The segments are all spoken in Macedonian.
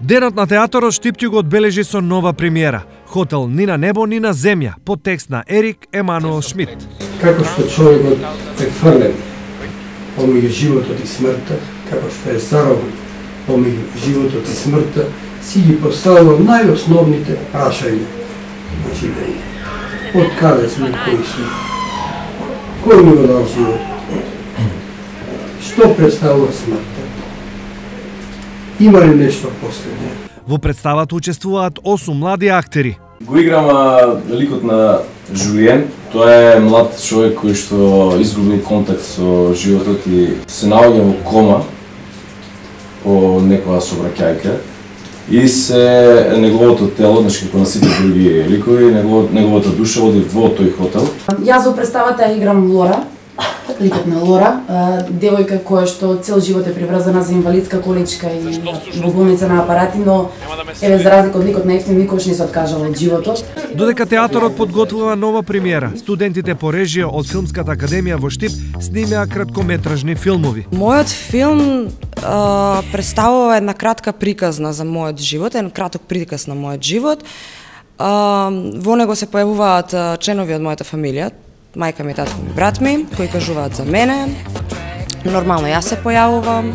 Денот на театарот Штипки го одбележи со нова премиера. Хотел ни на небо, ни на земја, по текст на Ерик Емануел Шмидт. Како што човекот е фрлен помеѓу животот и смртта, како што е заробен помеѓу животот и смртта, си ги поставува најосновните прашања на живење. Од каде сме, кои сме? Кој ни го дал живот? Што представува смртта? Има ли нешто последње? Во представата учествуваат 8 млади актери. Го играм ликот на Жулиен. Тоа е млад човек кој што изгубил контакт со животот и се наоѓа во кома по некоја собраќајка. И се неговото тело, значи како на сите други ликови, неговата душа оди во тој хотел. Јас во представата играм Лора, ликот на Лора, девојка која што цел живот е приврзана за инвалидска количка и во болница на апарати, но еве за разлика од ликот на Ефтим никогаш не се откажала од животот. Додека театарот подготвува нова премиера, студентите по режија од Филмската академија во Штип снимеа краткометражни филмови. Мојот филм представува една кратка приказна за мојот живот, еден краток приказ на мојот живот. Во него се појавуваат членови од мојата фамилија, мајка ми, татко ми, брат ми, кои кажуваат за мене. Нормално јас се појавувам.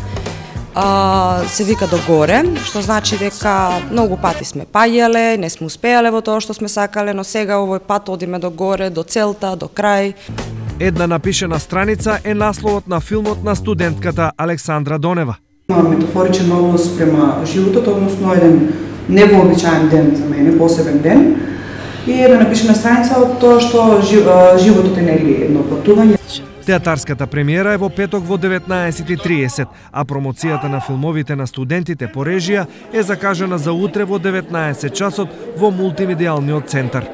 Се вика догоре, што значи дека многу пати сме паѓале, не сме успеале во тоа што сме сакале, но сега овој пат одиме догоре, до целта, до крај. Една напишена страница е насловот на филмот на студентката Александра Донева. Метафоричен однос према животот, односно еден невообичаен ден за мене, посебен ден. И една напишена страница од тоа што животот е нели едно патување. Театарската премиера е во петок во 19:30, а промоцијата на филмовите на студентите по режија е закажана за утре во 19 часот во мултимедијалниот центар.